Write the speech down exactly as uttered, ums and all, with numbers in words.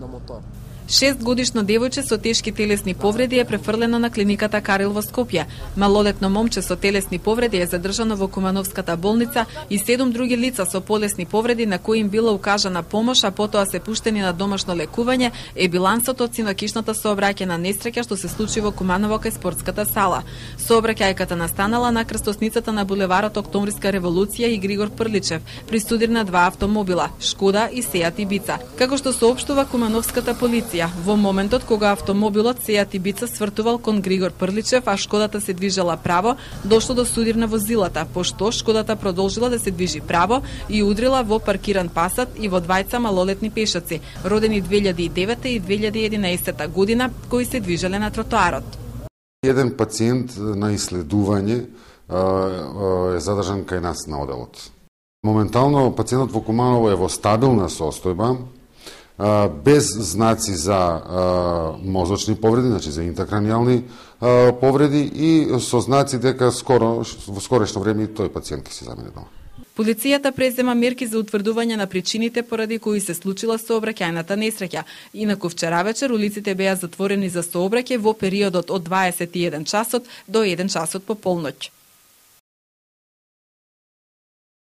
на мотор. Шестгодишно девојче со тешки телесни повреди е префрлено на клиниката Карил во Скопје. Малолетно момче со телесни повреди е задржано во Кумановската болница и седум други лица со полесни повреди на кои им била укажана помош, а потоа се пуштени на домашно лекување, е билансот од синокишната сообраќајна несреќа што се случи во Куманово кај спортската сала. Сообраќајката настанала на крстосницата на булеварот Октомвриска револуција и Григор Прличев, при студир на два автомобила, Шкода и Сеат Ибица. Како што соопштува Кумановската полиција, во моментот кога автомобилот Сеат Ибица свртувал кон Григор Прличев, а Шкодата се движела право, дошло до судир на возилата, пошто Шкодата продолжила да се движи право и удрила во паркиран пасат и во двајца малолетни пешаци, родени две илјади и девета и две илјади и единаесета година, кои се движеле на тротоарот. Еден пациент на исследување е задржан кај нас на оделот. Моментално пациентот во Куманово е во стабилна состојба, без знаци за мозочни повреди, значи за интракранијални повреди и со знаци дека скоро во скорешно време тој пациент ќе се замине дома. Полицијата презема мерки за утврдување на причините поради кои се случила сообраќајната несреќа. Инаку вчера вечер улиците беа затворени за сообраќај во периодот од дваесет и еден часот до еден часот по полноќ.